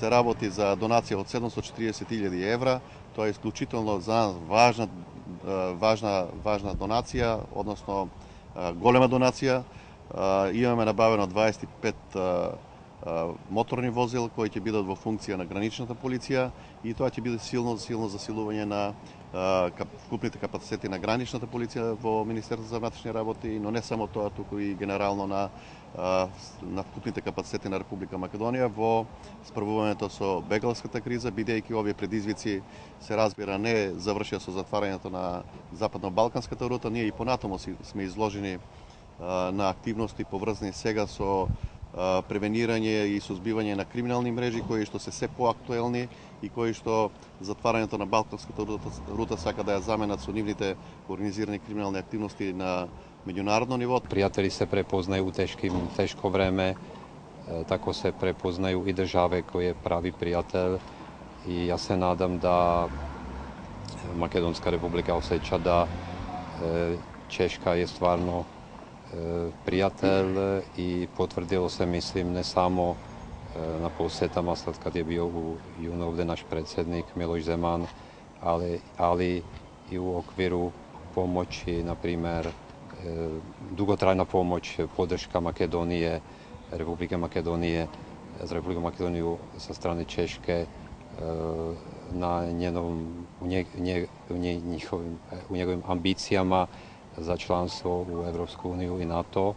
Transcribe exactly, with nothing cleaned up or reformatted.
се работи за донација од седумстотини и четириесет илјади евра. Тоа е исклучително за нас важна важна важна донација, односно голема донација. Имаме набавено дваесет и пет моторни возила кои ќе бидат во функција на граничната полиција и тоа ќе биде силно силно засилување на вкупните капацитети на граничната полиција во Министерството за внатрешни работи, но не само тоа, туку и генерално на на вкупните капацитети на Република Македонија во справувањето со бегалската криза, бидејќи овие предизвици се разбира не завршија со затварањето на западно-балканската рута, ние и понатаму сме изложени на активности поврзани сега со превенирање и сузбивање на криминални мрежи кои што се се поактуелни и кои што затварањето на балканската рута, рута сака да ја заменат со нивните организирани криминални активности на меѓународно ниво. Пријатели се препознају у тешким тешко време, тако се препознају и државе кој е прави пријател и јас се надам да Македонска република осеќа да Чешка е стварно пријател и потврдило се, мислим, не само на посетама след кад е био у јун овде наш председник Милош Земан, али, али и у оквиру помоќи, например, дуготрајна помоќ, поддршка Македонија, Република Македонија, за Република Македонија со стране Чешке, на нjenom, u, nje, nje, u, nje, njihovim, u njegovim ambicijama za članstvo u Evropsku uniju i NATO.